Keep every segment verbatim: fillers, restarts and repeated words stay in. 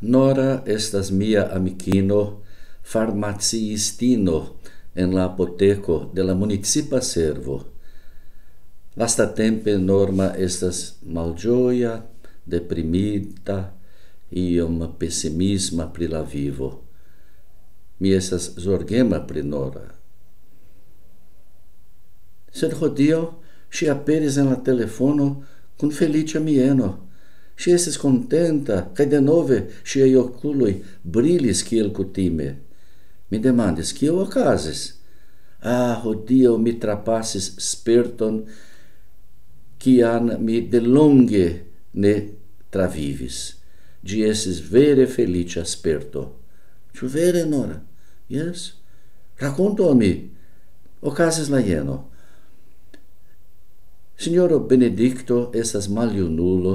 Nora estas mia amikino, farmaciistino en la apoteko de la municipa servo. Lastatempe Norma estas malĝoja, deprimita, iom pesimisma pri la vivo. Mi estas zorgema pri Nora. Sed hodiaŭ ŝi aperis en la telefono kun feliĉa mieno. Ŝi estis kontenta, kaj denove ŝiaj okuloj brilis kiel kutime. Mi demandis, kio okazis? Ah, hodiaŭ mi trapasis sperton, kian mi delonge ne travivis. Ĝi estis vere feliĉa sperto. Ĉu vere, Nora? Jes. Rakontu al mi. Okazis la jeno. Sinjoro Benedikto estas maljunulo,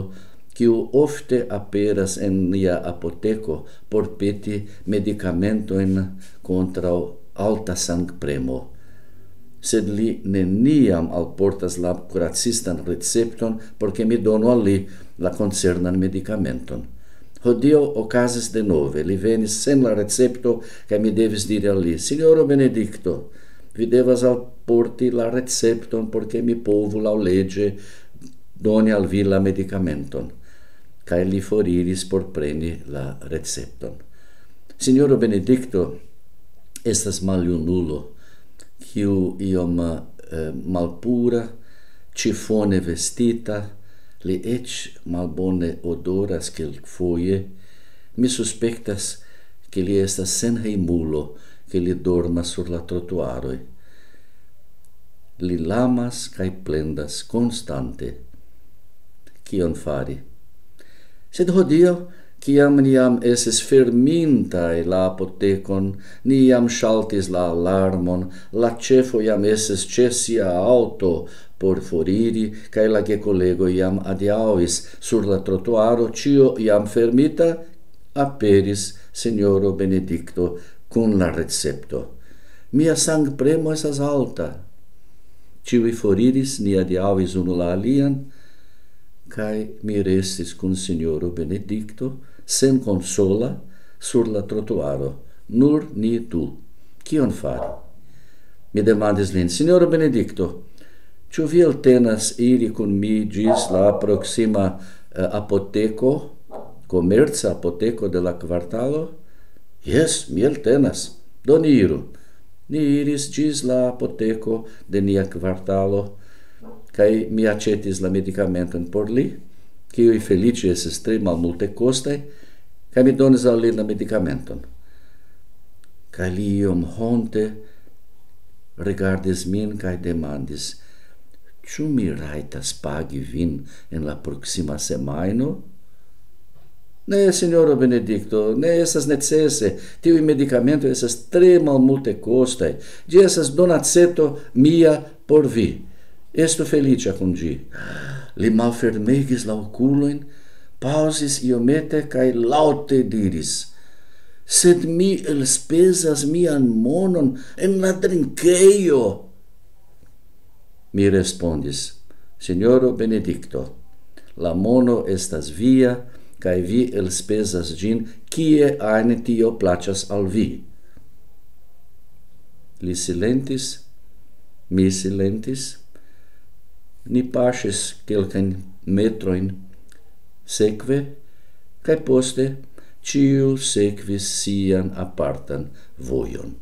kiu ofte aperas en nia apoteko por peti medikamentojn kontraŭ alta sangpremo. Sed li neniam alportas la kuracistan recepton, por ke mi donu al li la koncernan medikamenton. Hodiaŭ okazis denove, li venis sen la recepto, kaj mi devis diri al li, Sinjoro Benedikto, vi devas alporti la recepton, por ke mi povu laŭleĝe doni al vi la medikamenton. Kaj li foriris por preni la recepton. Sinjoro Benedikto estas maljunulo, kiu iom, eh, malpura, ĉifone vestita, li eĉ malbone odoras kelkfoje. Mi suspektas, ke li estas senhejmulo, ke li dormas sur la trotuaroj. Li lamas kaj plendas konstante. Kion fari? Sed hodiaŭ, kiam ni jam estis fermintaj la apotekon, ni jam ŝaltis la alarmon, la ĉefo jam estis ĉe sia aŭto por foriri, kaj la gekolegoj jam adiaŭis sur la trotuaro, ĉio jam fermita, aperis sinjoro Benedikto kun la recepto. Mia sangpremo estas alta. Ĉiuj foriris, ni adiaŭis unu la alian, kaj mi restis kun sinjoro Benedikto, senkonsola, sur la trotuaro, nur ni du. Kion fari? Mi demandis lin, Sinjoro Benedikto, ĉu vi eltenas iri kun mi ĝis la proksima, eh, apoteko, komerca apoteko de la kvartalo? Jes, mi eltenas. Do ni iru. Ni iris ĝis la apoteko de nia kvartalo, kaj mi aĉetis la medikamenton por li, kiuj feliĉe estis tre malmultekostaj, kaj mi donis al li la medikamenton. Kaj li iom honte rigardis min kaj demandis, ĉu mi rajtas pagi vin en la proksima semajno? Ne, sinjoro Benedikto, ne estas necese. Tiuj medikamentoj estas tre malmultekostaj. Ĝi estas donaceto mia por vi. Estu feliĉa kun ĝi. Li malfermegis la okulojn, paŭzis iomete kaj laŭte diris, Sed mi elspezas mian monon en la drinkejo. Mi respondis, Sinjoro Benedikto, la mono estas via, kaj vi elspezas ĝin, kie ajn tio plaĉas al vi. Li silentis, mi silentis, ni paŝis kelkajn metrojn sekve, kaj poste ĉiu sekvis sian apartan vojon.